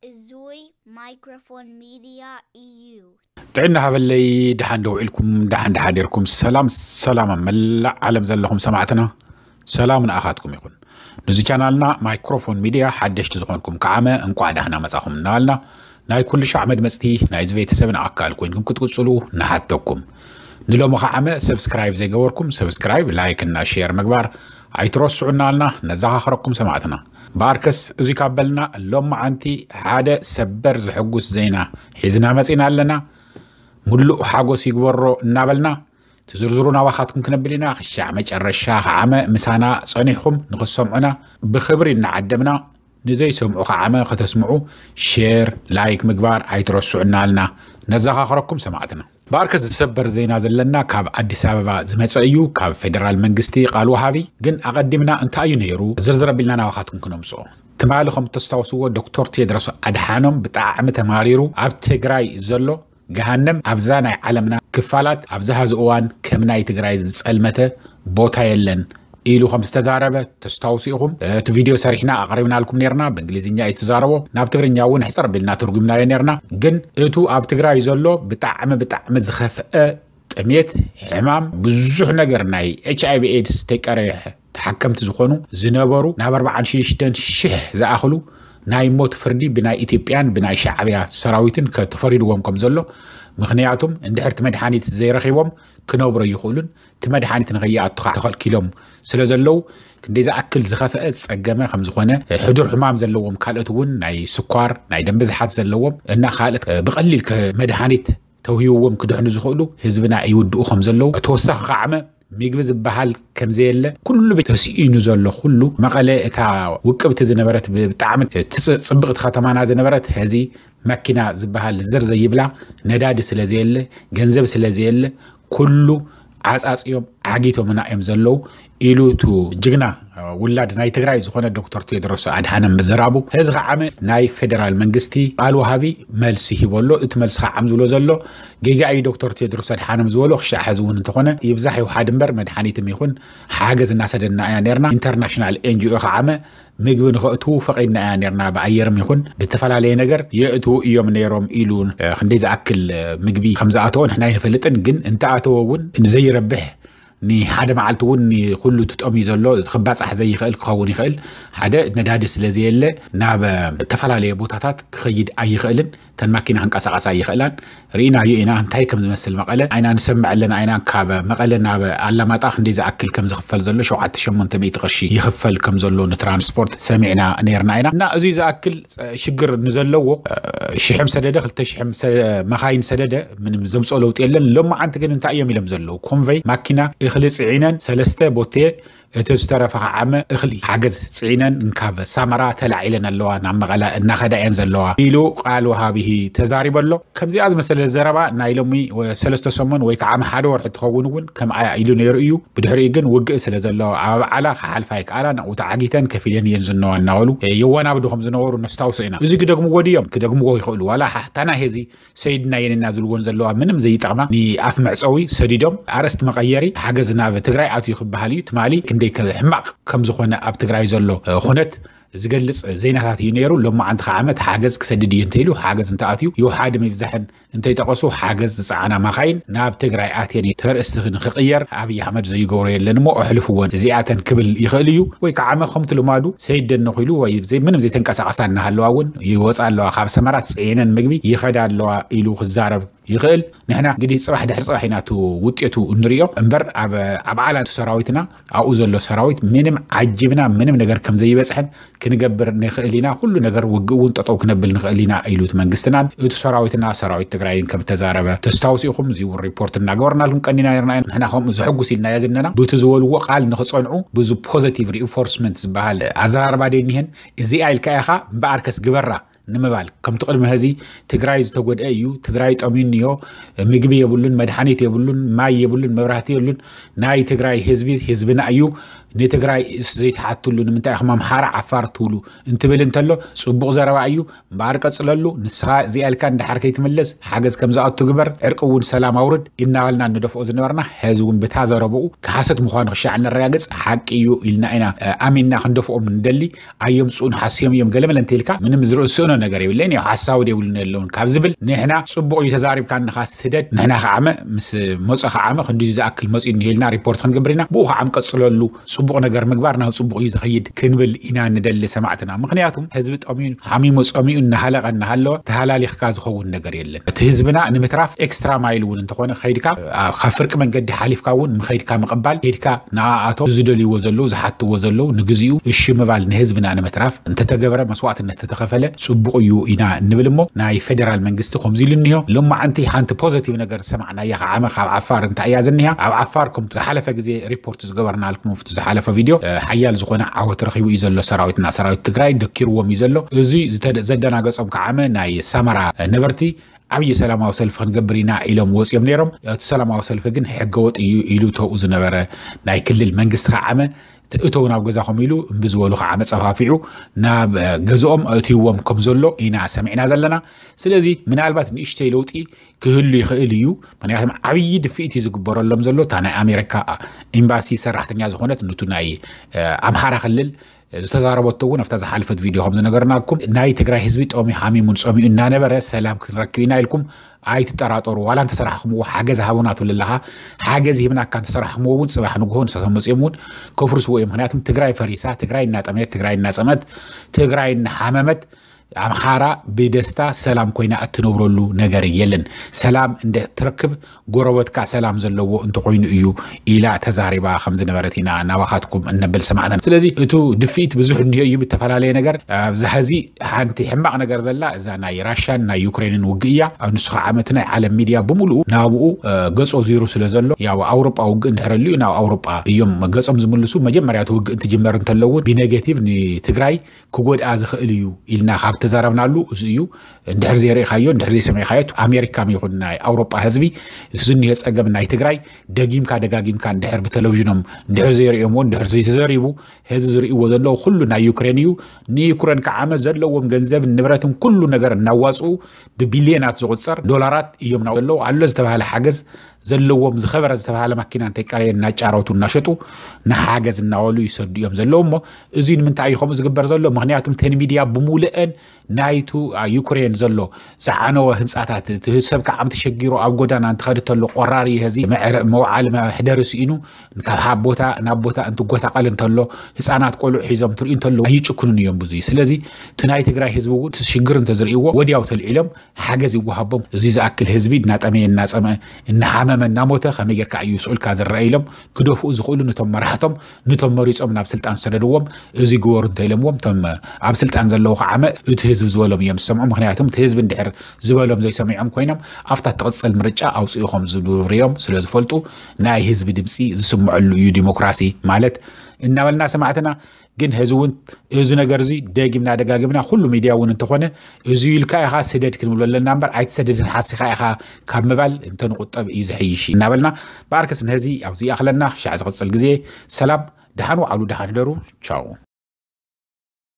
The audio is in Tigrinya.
እዙይ ማይክሮፎን ሚድያ እዩ። ጥዕና ሃበለይ። ደሓን ደውዒልኩም፣ ደሓን ደሓዲርኩም። ሰላም ሰላም ኣብ መላእ ዓለም ዘለኹም ሰማዕትና፣ ሰላም ንኣኻትኩም ይኹን። ነዚ ቻናልና ማይክሮፎን ሚድያ ሓደሽቲ ዝኾንኩም ከዓመ እንቋዕ ዳህና መጻኹም እናበልና፣ ናይ ኩሉ ሻዕ መድመጽቲ ናይዚ ቤተሰብን ኣካል ኮይንኩም ክትቅጽሉ ንሓተኩም። ንሎሚ ከዓመ ሰብስክራይብ ዘይገበርኩም ሰብስክራይብ፣ ላይክ እና ሼር ምግባር ኣይትረስዑ እናበልና ነዘኻኽረኩም ሰማዕትና። በኣርከስ እዚ ካብ በልና፣ ሎማዓንቲ ሓደ ሰበር ዘሕጉስ ዜና ሒዝና መጺና ኣለና። ሙሉእ ሓጎስ ይግበሮ እናበልና፣ ትዝርዝሩ ናባኻትኩም ክነብል ኢና። ክሻዕ መጨረሻ ከዓመ ምሳና ጸኒሕኩም ንኽትሰምዑና ብኽብሪ እናዓደምና፣ ንዘይሰምዑ ከዓመ ከተስምዑ ሼር ላይክ ምግባር ኣይትረስዑ እናበልና ነዘኻኽረኩም ሰማዕትና። በኣርከስ ዝሰበር ዜና ዘለና ካብ ኣዲስ ኣበባ ዝመጸ እዩ፣ ካብ ፌደራል መንግስቲ ቃል ወሃቢ። ግን ኣቐዲምና እንታይ እዩ ነይሩ ዝርዝር ኣቢልና ናባኻትኩም ክነምጽኦ። ትማሊ ከም እተስታውስዎ ዶክተር ቴድሮስ ኣድሓኖም ብጣዕሚ ተማሪሩ ኣብ ትግራይ ዘሎ ገሃነም ኣብዛ ናይ ዓለምና ክፋላት ኣብዚ ሐዚ እዋን ከም ናይ ትግራይ ዝጸልመተ ቦታ የለን ኢሉ ከም ዝተዛረበ ተስታውሱ ኢኹም። እቲ ቪድዮ ሰሪሕና ኣቕሪብናልኩም ነርና። ብእንግሊዝኛ እዩ ተዛረቦ፣ ናብ ትግርኛ እውን ሕፅር ቢልና ትርጉምናዮ ነርና። ግን እቱ ኣብ ትግራይ ዘሎ ብጣዕሚ ብጣዕሚ ዝኸፍአ ጥሜት፣ ሕማም፣ ብዙሕ ነገር ናይ ኤች ኣይ ቪ ኤድስ ተቀረሐ ተሓከምቲ ዝኾኑ ዝነበሩ ናብ ኣርባዓን ሽዱሽተን ሽሕ ዝኣኽሉ ናይ ሞት ፍርዲ ብናይ ኢትዮጵያን ብናይ ሻዕብያ ሰራዊትን ተፈሪድዎም ከም ዘሎ፣ ምኽንያቱም እንድሕር እቲ መድሓኒት ዘይረኺቦም ክነብሩ ኣይኽእሉን፣ እቲ መድሓኒት ንኸይኣቱ ከዓ ተኸልኪሎም ስለ ዘለዉ፣ ክንደይ ዝኣክል ዝኸፍአ ዝፀገመ ከም ዝኾነ፣ ሕዱር ሕማም ዘለዎም ካልኦት እውን ናይ ስኳር ናይ ደም ብዝሓት ዘለዎም እና ካልኦት ብቐሊል መድሓኒት ተውሂብዎም ክድሕኑ ዝኽእሉ ህዝብና ይውድኡ ከም ዘለዉ፣ ተወሳኺ ከዓመ ምግቢ ዝበሃል ከም ዘየለ፣ ኩሉ ተስኢኑ ዘሎ ኩሉ መቐለ እታ ውቅብቲ ዝነበረት ብጣዕሚ ጽብቕቲ ከተማና ዝነበረት ሕዚ መኪና ዝበሃል ዝር ዘይብላ፣ ነዳዲ ስለ ዘየለ፣ ገንዘብ ስለ ዘየለ፣ ኩሉ ዓጻጽዮም ዓጊቶምና እዮም ዘለዉ ኢሉ እቱ ጅግና ውላድ ናይ ትግራይ ዝኾነ ዶክተር ቴድሮስ ኣድሓኖም ምዝራቡ። ሕዚ ከዓመ ናይ ፌደራል መንግስቲ ቃል ወሃቢ መልሲ ሂቦ ኣሎ። እቲ መልሲ ከዓ ዝብሎ ዘሎ ጌጋ እዩ ዶክተር ቴድሮስ ኣድሓኖም ዝበሎ። ክሻዕ ሕዚ እውን እንተኾነ ይብዛሕ ይውሓድ እምበር መድሓኒትም ይኹን ሓገዝ እናሰደድና ኢና ነርና። ኢንተርናሽናል ኤን ጂ ኦ ከዓመ ምግቢ ንኸእትዉ ፈቒድና ኢና ነርና። ብኣየርም ይኹን ብተፈላለየ ነገር የእትዉ እዮም ነይሮም ኢሉ ክንደይ ዝኣክል ምግቢ ከም ዝኣተወ ንሕና ኣይንፈልጥን። ግን እንተኣተወ እውን ንዘይረብሕ ንሓደ መዓልቲ እውን ንኩሉ ትጠምዩ ዘሎ ክባፃሕ ዘይኽእል ክኸውን ይኽእል። ሓደ ነዳዲ ስለ ዘየለ ናብ ዝተፈላለየ ቦታታት ክኸይድ ኣይኽእልን። እተን ማኪና ክንቀሳቐሳ ኣይኽእላን። ርኢናዮ ኢና እንታይ ከም ዝመስል መቐለ። ኣይና ንሰምዕ ኣለና ኢና ካብ መቐለ ናብ ኣላማጣ ክንደይ ዝኣክል ከም ዝኽፈል ዘሎ፣ ሸውዓተ ሸሞንተ ሚእቲ ቅርሺ ይኽፈል ከም ዘሎ ንትራንስፖርት ሰሚዕና ነርና ኢና። እና እዚ ዝኣክል ሽግር ንዘለዎ ሽሕም ሰደደ ክልተ ሽሕም መኻይን ሰደደ ምንም ዘምፅኦ ለውጢ የለን። ሎማዓንቲ ግን እንታይ እዮም ኢሎም ዘለዉ? ኮንቨይ ማኪና እኽሊ ፅዒነን ሰለስተ ቦቴ እቲ ዝተረፈ ከዓመ እኽሊ ሓገዝ ፅዒነን እንካብ ሳመራ ተላዒለን ኣለዋ፣ ናብ መቐለ እናኸዳ እየን ዘለዋ ኢሉ ቃል ወሃቢ ተዛሪቡ ኣሎ። ከምዚኣ ዝመሰለ ዘረባ ናይ ሎሚ ሰለስተ ሰሙን ወይ ከዓ ሓደ ወርሒ ትኸውን እውን ከምኣ ኢሉ ነይሩ እዩ። ብድሕሪኡ ግን ውግእ ስለ ዘሎ ኣብ ዓላ ክሓልፋ ኣይከኣላን፣ ኣብኡ ተዓጊተን ከፊለን እየን ዝነዋ እናበሉ የወናብዱ ከም ዝነበሩ ነስታውሶ ኢና። እዚ ክደግምዎ ድዮም? ክደግምዎ ይኽእሉ። ዋላ ሓሕታና ሄዚ ሰይድና የኔና ዝብልዎን ዘለዋ ምንም ዘይጠቕማ ንኣፍ መዕፀዊ ሰዲዶም ኣርእስቲ መቐየሪ ሓገዝ ናብ ትግራይ ኣትዩ ክበሃል እዩ። ትማሊ ክንደይ ሕማቕ ከም ዝኾነ ኣብ ትግራይ ዘሎ ኩነት ዝገልፅ ዜናታት እዩ ነይሩ። ሎማዓንቲ ከዓ ዓመት ሓገዝ ክሰድድ እዩ እንተኢሉ ሓገዝ እንተኣትዩ ይውሓድም ይብዛሕን እንተይጠቐሱ ሓገዝ ዝፀዓና ማኻይን ናብ ትግራይ ኣትየን እዩ። ተርእስቲ ንክቕየር ኣብይ ኣሕመድ ዘይገብሮ የለን እሞ ኣሕልፍወን እዚኣተን ክብል ይኽእል እዩ። ወይ ከዓ ዓመ ከምቲ ልማዱ ሰይደን ነኺሉ ወይ ምንም ዘይተንቀሳቐሳ እናሃለዋ እውን ይወፃ ኣለዋ። ካብ ሰመራ ፅዒነን ምግቢ ይኸዳ ኣለዋ ኢሉ ክዛረብ ይኽእል። ንሕና እንግዲህ ፅባሕ ድሕሪ ፅባሕ ኢና እቲ ውጤቱ እንሪኦ እምበር ኣብ ዓላ ሰራዊትና ኣብኡ ዘሎ ሰራዊት ምንም ዓጅብና ምንም ነገር ከም ዘይበፅሐን ክንገብር ንኽእል ኢና። ኩሉ ነገር ውግእ እውን ጠጠው ክነብል ንኽእል ኢና ኢሉ እቲ መንግስትናን እቲ ሰራዊትና ሰራዊት ትግራይን ከም እተዛረበ ተስታውሱ ኢኹም። እዚ እውን ሪፖርት እናገበርናልኩም ቀኒና ነርና ኢና። ንሕና ከምኡ ዘሐጉስ ኢልናዮ ዘለና ብቲ ዝበልዎ ቃል ንኽፀንዑ ብዙ ፖዘቲቭ ሪኢንፎርስመንት ዝበሃል ኣዘራርባ ደይ እኒሀን። እዚኣ ኢልካ ኢኻ እምበኣርከስ ግበራ ንምባል ከምቲ ቅድሚ ሕዚ ትግራይ ዝተጎድአ እዩ፣ ትግራይ ጠምዩ እኒኦ፣ ምግቢ የብሉን፣ መድሓኒት የብሉን፣ ማይ የብሉን፣ መብራህቲ የብሉን፣ ናይ ትግራይ ህዝቢ ህዝብና እዩ፣ ንትግራይ ዘይትሓትሉ ንምንታይ ኢኹም ኣምሓራ ዓፋር ትብሉ? እንትብል እንተሎ ጽቡቕ ዘረባ እዩ። እምበኣር ቀጽለሉ። ንስኻ እዚኣ ኢልካ እንድሓር ከይትምለስ ሓገዝ ከም ዝኣቱ ግበር። ዕርቂ እውን ሰላም ኣውርድ እናበልና ንደፍኦ ዝነበርና፣ ሕዚ እውን ብታ ዘረብኡ ሓሰት ምዃኑ ክሻዕ ነረጋግጽ። ሓቂ እዩ ኢልና ኢና ኣሚንና ክንደፍኦም ንደሊ። ኣየምጽኡን ሓስዮም እዮም ገለመለ እንተኢልካ ምንም ዝርእስእኖ ነገር የብለን። ያው ሓሳዊ የብሉን የለውን ካብ ዝብል ንሕና ጽቡቕ እዩ ተዛሪብካ እንኻ ስደድ ንሕና ከዓመ ምስ መጾ ከዓመ ክንዲ ዝኣክል መጺኡ እንሄልና ሪፖርት ክንገብር ኢና። ብኡ ከዓም ቀጽለሉ። ጽቡቕ ነገር ምግባር ናብ ጽቡቕ እዩ ዝኸይድ ክንብል ኢና ንደሊ ሰማዕትና። ምኽንያቱም ህዝቢ ጠሚዩ ሓሚሙ ጸሚኡ እናሃለቐ እናሃለወ ተሃላሊኽካ ዝኸውን ነገር የለን። እቲ ህዝብና ንምትራፍ ኤክስትራ ማይል እውን እንተኾነ ከይድካ ካብ ፍርቂ መንገዲ ሓሊፍካ እውን ምኸይድካ ምቕባል ከይድካ ንኣኣቶም ዝደልይዎ ዘለዉ ዝሓትዎ ዘለዉ ንግዚኡ እሺ ምባል ንህዝብና ንምትራፍ እንተተገበረ መስዋዕትነት ተተኸፈለ ጽቡቕ እዩ ኢና እንብል እሞ ናይ ፌደራል መንግስቲ ከምዚ ኢሉ እኒሆ። ሎማዓንቲ ሓንቲ ፖዘቲቭ ነገር ዝሰማዕናያ ከዓመ ካብ ዓፋር እንታይ እያ ዝኒሃ? ኣብ ዓፋር ከምቲ ዝሓለፈ ግዜ ሪፖርት ዝገበርናልኩም ኣብቲ ዝሓለፈ ቪድዮ ሓያል ዝኾነ ዓወት ረኺቡ እዩ ዘሎ ሰራዊትና። ሰራዊት ትግራይ ደኪርዎም እዩ ዘሎ። እዚ ዘደናገጾም ከዓመ ናይ ሰመራ ነበርቲ ዓብዪ ሰላማዊ ሰልፊ ክንገብር ኢና ኢሎም ወፂኦም ነይሮም። እቲ ሰላማዊ ሰልፊ ግን ሕገወጥ እዩ ኢሉ ተብኡ ዝነበረ ናይ ክልል መንግስቲ ከዓመ እተው ናብ ገዛኹም ኢሉ እምቢ ዝበሉ ከዓ መፀፋፊዑ ናብ ገዝኦም እትይዎም ከም ዘሎ ኢና ሰሚዕና ዘለና። ስለዚ ምናልባት ንእሽተይ ለውጢ ክህሉ ይኽእል እዩ። ምክንያቱም ዓብዪ ድፍኢት እዩ ዝግበረሎም ዘሎ። እታ ናይ ኣሜሪካ ኤምባሲ ሰራሕተኛ ዝኾነት ንቱ ናይ ኣምሓራ ክልል ዝተዛረበቶ እውን ኣብታ ዝሓለፈት ቪድዮ ከም ዝነገርናኩም ናይ ትግራይ ህዝቢ ጠሚ ሓሚሙን ፀሚኡ እናነበረ ሰላም ክንረክብ ኢና ኢልኩም ኣይትጠራጠሩ። ዋላ እንተሰራሕኹምዎ ሓገዝ ሃቡና ትብል ኣለኻ። ሓገዝ ሂብናካ እንተሰራሕኹምዎ እውን ፅባሕ ንግሆ ንሳቶም መፅኦም እውን ከፍርስዎ እዮም። ምክንያቱም ትግራይ ፈሪሳ፣ ትግራይ እናጠመየት፣ ትግራይ እናፀመት፣ ትግራይ እናሓመመት ኣምሓራ ብደስታ ሰላም ኮይና እትነብረሉ ነገር የለን። ሰላም እንደ ትረክብ ጎረበትካ ሰላም ዘለዎ እንተኮይኑ እዩ ኢላ ተዛሪባ ከም ዝነበረት ኢና ናባኻትኩም እነብል ሰማዕተና። ስለዚ እቱ ድፍኢት ብዙሕ እንዲሆ እዩ ብተፈላለየ ነገር። ኣብዚ ሕዚ ሓንቲ ሕማቕ ነገር ዘላ እዛ ናይ ራሻን ናይ ዩክሬንን ውግእ እያ። ኣብ ንሱ ከዓ እቲ ናይ ዓለም ሚድያ ብምሉኡ ናብኡ ገጾ ዙይሩ ስለ ዘሎ ያው ኣውሮጳ ውግእ እንድሕረሉ እዩ ናብ ኣውሮጳ እዮም ገጾም ዝምልሱ። መጀመርያ እቲ ውግእ እንትጅመር እንተለውን ብኔጌቲቭ ንትግራይ ክጎድኣ ዝኽእል እዩ ኢልና ካብ ተዛረብናሉ እዚ እዩ። እንድሕር ዘይርኢኻዮ እንድሕር ዘይሰሚዕኻዮ ኣሜሪካ ይኹን ናይ ኣውሮጳ ህዝቢ ዝኒሆ ጸገም ናይ ትግራይ ደጊምካ ደጋጊምካ እንድሕር ብቴሌቪዥኖም እንድሕር ዘይርእዮምዎ እንድሕር ዘይተዘሪቡ ህዚ ዝርእይዎ ዘለዉ ኩሉ ናይ ዩክሬን እዩ። ንዩክሬን ከዓመ ዘለዎም ገንዘብ ንብረትን ኩሉ ነገር እናዋፅኡ ብቢልዮናት ዝቁፀር ዶላራት እዮም ናው ዘለዉ ኣሎ ዝተባሃለ ሓገዝ ዘለዎም ዝኸበረ ዝተባሃለ ማኪና እንተይቀረየ እናጫረቱ እናሸጡ ንሓገዝ እናበሉ ይሰዱ እዮም ዘለዉ። እሞ እዚ ንምንታይ እዩ ከምኡ ዝግበር ዘሎ? ምክንያቱም ተን ሚድያ ብምሉአን ናይቱ ዩክሬን ዘሎ ዝዓነወ ህንፃታት እቲ ሰብ ከዓም ተሸጊሩ ኣብ ጎዳና እንትኸድ ተሎ ቆራሪ ህዚ መውዓሊ መሕደሪ ስኢኑ ካብ ሓደ ቦታ ናብ ቦታ እንትጎሳቐል እንተሎ ህፃናት ቆልዑ ሒዞም ትርኢ እንተሎ ኣይጭክኑን እዮም ብዙ። ስለዚ እቲ ናይ ትግራይ ህዝቢ እውን ሽግር እንተዝርእይዎ ወዲያው ተልዒሎም ሓገዝ ይወሃቦም። እዚ ዝኣክል ህዝቢ እናጠመየ እናፀመ እናሓመመ እናሞተ ከመይ ጌርካ እዩ ስዑልካ ዝረአ ኢሎም ክደፍኡ ዝኽእሉ ነቶም መራሕቶም ነቶም መሪፆም ናብ ስልጣን ሰደድዎም። እዚ ግበሩ እንተኢሎምዎም እቶም ኣብ ስልጣን ዘለዉ ከዓመ እቲ ህዝቢ ዝበሎም እዮም ዝሰምዑ። ምክንያቱም እቲ ህዝቢ እንድሕር ዝበሎም ዘይሰሚዖም ኮይኖም ኣብታ ትቕፅል ምርጫ ኣውፅኡ ከም ዝብርዮም ስለ ዝፈልጡ ናይ ህዝቢ ድምፂ ዝስምዐሉ እዩ ዲሞክራሲ ማለት እናበልና ሰማዕትና። ግን ህዚ እውን እዚ ነገር እዚ ደጊምና ደጋጊምና ኩሉ ሚድያ እውን እንተኾነ እዚ ኢልካ ኢኻ ስደድ ክንብሎ ኣለና እምበር ኣይትሰደድን ሓሲኻ ኢኻ ካብ ምባል እንተንቁጠብ እዩ ዝሕይሽ እናበልና ብኣርከስ ንህዚ ኣብዚ ይኣኽለና። ሻዕ ዝቕፅል ግዜ ሰላም፣ ደሓን ውዓሉ፣ ደሓን ህደሩ። ቻው።